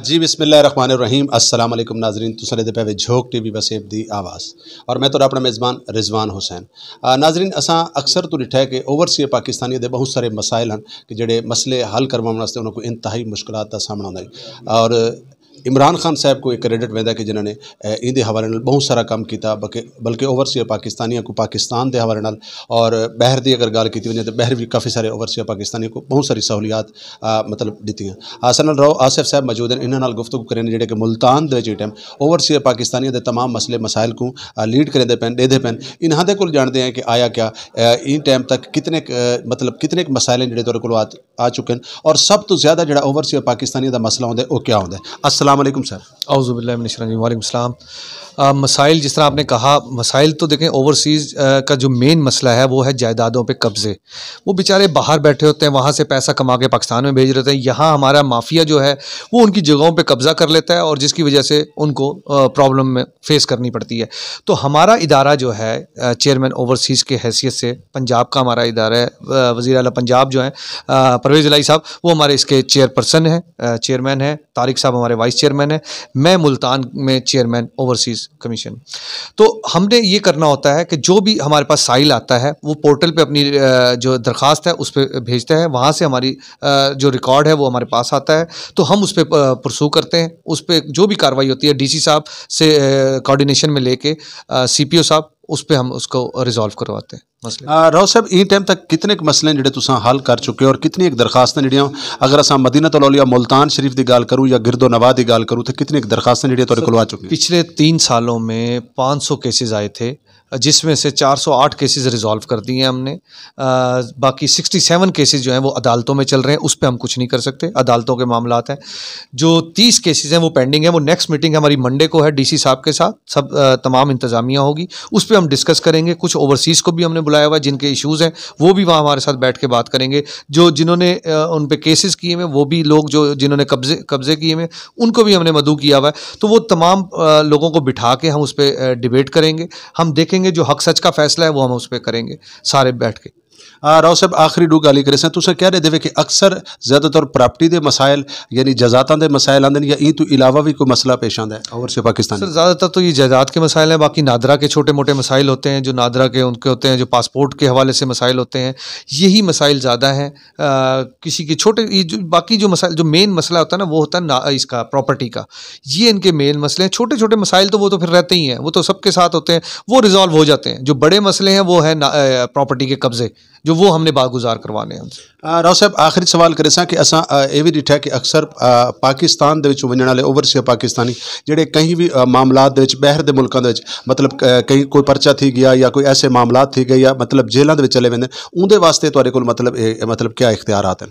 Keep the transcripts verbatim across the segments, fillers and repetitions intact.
جی، بسم اللہ الرحمن الرحیم۔ السلام علیکم ناظرین، تساں ݙیہدے پئے وے جھوک ٹی وی وسیب دی آواز، اور میں تہاݙا اپݨا میزبان رضوان حسین۔ آ، ناظرین، اساں اکثر توں ݙٹھا ہے کہ اوورسیز پاکستانیاں دے ٻہوں سارے مسائل ہن کہ جیڑھے مسئلے حل کرواوݨ واسطے انہاں کوں انتہائی مشکلات دا سامݨا ہوندا ہے، اور عمران خان صاحب کوں ایہ کریڈٹ ویندا ہے کہ جنہاں نے، اے، ایندے حوالے نال ٻہوں سارا کم کیتا، بلکہ، بلکہ اوورسیز پاکستانیاں کوں پاکستان دے حوالے نال، اور ٻاہر دی اگر ڳالھ کیتی ونڄے تو ٻاہر وی کافی سارے اوورسیز پاکستانیاں کوں ٻہوں ساری سہولیات، آ، مطلب، ݙتیاں۔ اساݙے نال رؤف آصف صاحب موجود ہیں، انہاں نال گفتگو کریں جیڑھے کہ ملتان دے وچ ایں ٹائم اوورسیز پاکستانیاں دے تمام مسئلے مسائل کوں، آ، لیڈ کریندے پئن، ݙیہدے پئن۔ انہاں دے کول ڄاݨدے ہیں کہ آیا کیا، آ، ایں ٹائم تک کتنے ک-، آ، مطلب، کتنے ک مسائل ہیں جیڑھے تہاݙے کول آ، آ چکے ہیں، اور سب توں زیادہ جیڑھا اوورسیز پاکستانیاں دا مسئلہ ہوندا ہے، او کیا ہوندا ہے؟ السلام علیکم سر۔ اعوذ باللہ من الشیطان الرجیم۔ وعلیکم السلام۔ آ، مسائل جس طرح آپ نے کہا، مسائل تو دیکھیں، اوورسیز، آ، کا جو مین مسئلہ ہے وہ ہے جائیدادوں پہ قبضے۔ وہ بیچارے باہر بیٹھے ہوتے ہیں، وہاں سے پیسہ کما کے پاکستان میں بھیج رہے ہوتے ہیں، یہاں ہمارا مافیا جو ہے وہ ان کی جگہوں پہ قبضہ کر لیتا ہے، اور جس کی وجہ سے ان کو، آ، پرابلم میں فیس کرنی پڑتی ہے۔ تو ہمارا ادارہ جو ہے، آ، چیئرمین اوورسیز کے حیثیت سے پنجاب کا ہمارا ادارہ ہے، آ، وزیر اعلیٰ پنجاب جو ہیں، آ، پرویز الہی صاحب، وہ ہمارے اس کے چیئرپرسن ہیں، آ، چیئرمین ہیں، طارق صاحب ہمارے وائس چیئرمین ہیں، میں ملتان میں چیئرمین اوورسیز کمیشن۔ تو ہم نے یہ کرنا ہوتا ہے کہ جو بھی ہمارے پاس سائل آتا ہے، وہ پورٹل پہ اپنی، آ، جو درخواست ہے اس پہ بھیجتا ہے، وہاں سے ہماری، آ، جو ریکارڈ ہے وہ ہمارے پاس آتا ہے، تو ہم اس پہ، آ، پرسو کرتے ہیں، اس پہ جو بھی کاروائی ہوتی ہے ڈی سی صاحب سے، آ، کوآرڈینیشن میں لے کے، آ، سی پی او صاحب، اس پہ ہم اس کو ریزالو کرواتے ہیں مسئلے۔ آ، رؤف صاحب، ایں ٹائم تک کتنے ک مسئلے ہیں جیڑھے تساں حل کر چکے ہو، اور کتنی ایک درخواستاں جیڑھیاں، اگر اساں مدینہ الاولیاء ملتان شریف دی ڳالھ کروں یا گرد و نواح دی ڳالھ کروں، تے کتنی ایک درخواستاں جیڑھیاں تہاݙے کولوں آ چکیاں؟ پچھلے تین سالوں میں پانچ سو کیسز آئے تھے، جس میں سے چار سو آٹھ کیسز ریزالو کر دیے ہم نے۔ آ، باقی سکسٹی سیون کیسز جو ہیں وہ عدالتوں میں چل رہے ہیں، اس پہ ہم کچھ نہیں کر سکتے، عدالتوں کے معاملات ہیں۔ جو تیس کیسز ہیں وہ پینڈنگ ہیں، وہ نیکسٹ میٹنگ ہماری منڈے کو ہے ڈی سی صاحب کے ساتھ، سب، آ، تمام انتظامیہ ہوگی، اس پہ ہم ڈسکس کریں گے۔ کچھ اوورسیز کو بھی ہم نے بلایا ہوا ہے جن کے ایشوز ہیں، وہ بھی وہاں ہمارے ساتھ بیٹھ کے بات کریں گے۔ جو جنہوں نے، آ، ان پہ کیسز کیے ہوئے ہیں، وہ بھی لوگ جو جنہوں نے قبضے، قبضے کیے ہوئے ہیں، ان کو بھی ہم نے مدعو کیا ہوا ہے۔ تو وہ تمام، آ، لوگوں کو بٹھا کے ہم اس پہ، آ، ڈبیٹ کریں گے۔ ہم دیکھیں گے جو حق سچ کا فیصلہ ہے وہ ہم اس پہ کریں گے سارے بیٹھ کے۔ آ، رؤف صاحب، آخری ݙو ڳالھیں کریساں، تساں کیا ݙیہدے وے کہ اکثر زیادہ تر پراپرٹی دے مسائل، یعنی جائیداداں دے مسائل آندے نے یا ایں توں علاوہ وی کوئی مسئلہ پیش آندا ہے اوورسیز پاکستانی؟ سر، زیادہ تر تو یہ جائیداد کے مسائل ہیں، باقی نادرا کے چھوٹے موٹے مسائل ہوتے ہیں، جو نادرا کے ان کے ہوتے ہیں، جو پاسپورٹ کے حوالے سے مسائل ہوتے ہیں، یہی مسائل زیادہ ہیں۔ آ، کسی کے چھوٹے، یہ جو باقی جو مسائل، جو مین مسئلہ ہوتا ہے نا، وہ ہوتا ہے نا اس کا، پراپرٹی کا۔ یہ ان کے مین مسئلے ہیں۔ چھوٹے چھوٹے مسائل تو وہ تو پھر رہتے ہی ہیں، وہ تو سب کے ساتھ ہوتے ہیں، وہ ریزالو ہو جاتے ہیں۔ جو بڑے مسئلے ہیں وہ ہے نا، آ، پراپرٹی کے قبضے، جو وہ ہم نے باگزار کروانے ہیں ان سے۔ آ، رؤف صاحب، آخری سوال کریساں کہ اساں، آ، اے وی ݙٹھا کہ اکثر، آ، پاکستان دے وچوں ونڄݨ والے اوورسیز پاکستانی جیڑھے کہیں وی، آ، معاملات دے وچ، ٻاہر دے ملکاں دے وچ، مطلب، آ، کہیں کوئی پرچہ تھی ڳیا یا کوئی ایسے معاملات تھی ڳئے یا، مطلب، جیلاں دے وچ چلے ویندے، اوندے واسطے تہاݙے کول، مطلب، اے، مطلب، کیا اختیارات ہیں؟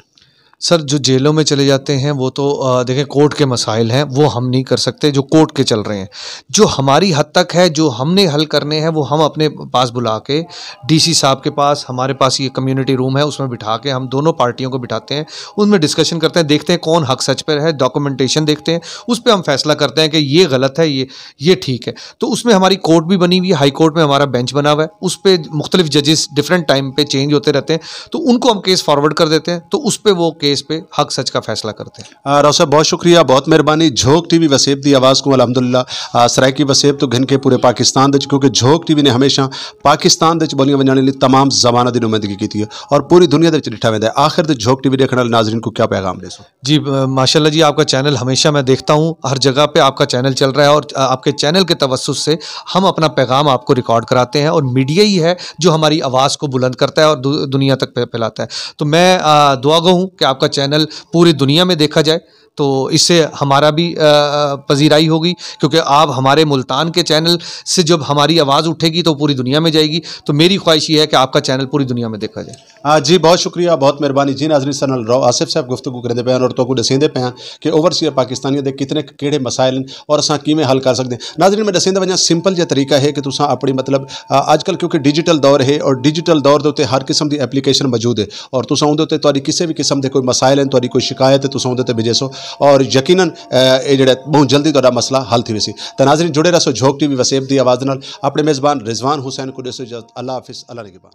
سر، جو جیلوں میں چلے جاتے ہیں وہ تو، آ، دیکھیں، کورٹ کے مسائل ہیں، وہ ہم نہیں کر سکتے جو کورٹ کے چل رہے ہیں۔ جو ہماری حد تک ہے، جو ہم نے حل کرنے ہیں، وہ ہم اپنے پاس بلا کے ڈی سی صاحب کے پاس، ہمارے پاس یہ کمیونٹی روم ہے، اس میں بٹھا کے ہم دونوں پارٹیوں کو بٹھاتے ہیں، ان میں ڈسکشن کرتے ہیں، دیکھتے ہیں کون حق سچ پر ہے، ڈاکومنٹیشن دیکھتے ہیں، اس پہ ہم فیصلہ کرتے ہیں کہ یہ غلط ہے، یہ، یہ ٹھیک ہے۔ تو اس میں ہماری کورٹ بھی بنی ہوئی ہے، ہائی کورٹ میں ہمارا بینچ بنا ہوا ہے، اس پہ مختلف ججز ڈفرینٹ ٹائم پہ چینج ہوتے رہتے ہیں، تو ان کو ہم کیس فارورڈ کر دیتے ہیں، تو اس پہ وہ کیس پہ حق سچ کا فیصلہ کرتے ہیں۔ آ، رؤف صاحب، بہت شکریہ، بہت مہربانی۔ جھوک ٹی وی وسیب دی آواز کوں الحمدللہ، آ، سرائیکی وسیب توں گھن کے پورے پاکستان دے وچ، کیونکہ جھوک ٹی وی نے ہمیشہ پاکستان دے وچ ٻولیاں ونڄاوݨ لئی تمام زباناں دی نمائندگی کیتی ہے اور پوری دنیا دے وچ ݙٹھا ویندا ہے۔ آخر تے جھوک ٹی وی ݙیکھݨ والے ناظرین کوں کیا پیغام ݙیسو؟ جی، ب-، ماشاءاللہ جی، آپ کا چینل ہمیشہ میں دیکھتا ہوں، ہر جگہ پہ آپ کا چینل چل رہا ہے اور آپ کے چینل کے توسط سے ہم اپنا پیغام آپ کو ریکارڈ کراتے ہیں اور میڈیا ہی ہے جو ہماری آواز کو بلند کرتا ہے اور دو-، دنیا تک پھے-، پھیلاتا ہے۔ تو میں، آ، دعا گو ہوں کہ آپ کا چینل پوری دنیا میں دیکھا جائے، تو اس سے ہمارا بھی، آ، پذیرائی ہوگی، کیونکہ آپ ہمارے ملتان کے چینل سے جب ہماری آواز اٹھے گی تو پوری دنیا میں جائے گی۔ تو میری خواہش یہ ہے کہ آپ کا چینل پوری دنیا میں دیکھا جائے۔ آ، جی، بہت شکریہ، بہت مہربانی۔ جی ناظرین، ساݙے نال رؤف آصف صاحب گفتگو کریندے پئے ہن اور تہاکوں ݙسیندے پئے ہن کہ اوورسیز پاکستانیاں دے کتنے ک-، کیڑھے مسائل ہن اور اساں کیویں حل کر سڳدے ہیں۔ ناظرین، میں ݙسیندا ونڄاں، سمپل جیہا طریقہ ہے کہ تساں اپݨی، مطلب، آ، اڄ کل کیونکہ ڈیجیٹل دور ہے اور ڈیجیٹل دور دے اتے ہر قسم دی اپلیکیشن موجود ہے اور تساں اوندے اتے تہاݙی کسے وی قسم دے کوئی مسائل ہن، تہاݙی کوئی شکایت ہے، تساں اوندے اتے بھیجیسو اور یقیناً، آ، اے جیڑھا ٻہوں جلدی تہاݙا مسئلہ حل تھی ویسی۔ تاں ناظرین، جڑے رہسو جھوک ٹی وی وسیب دی آواز دے نال۔ اپݨے میزبان رضوان حسین کوں ݙیسو اجازت۔ اللہ حافظ، اللہ نگہبان۔